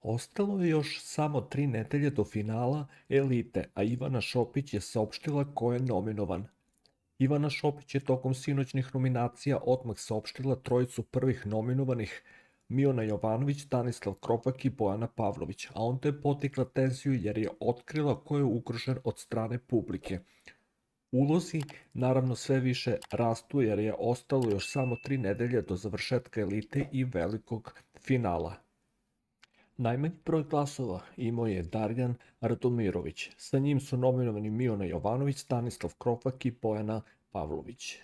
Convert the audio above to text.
Ostalo je još samo 3 nedelje do finala Elite, a Ivana Šopić je saopštila ko je nominovan. Ivana Šopić je tokom sinoćnih nominacija odmah saopštila trojicu prvih nominovanih: Miona Jovanović, Stanislav Kropak i Bojana Pavlović, a onda je potikla tenziju jer je otkrila ko je ugrožen od strane publike. Ulozi naravno sve više rastu jer je ostalo još samo 3 nedelje do završetka Elite i velikog finala. Najmanji broj glasova imao je Darjan Radomirović. Sa njim su nominovani Miona Jovanović, Stanislav Kropak i Bojana Pavlović.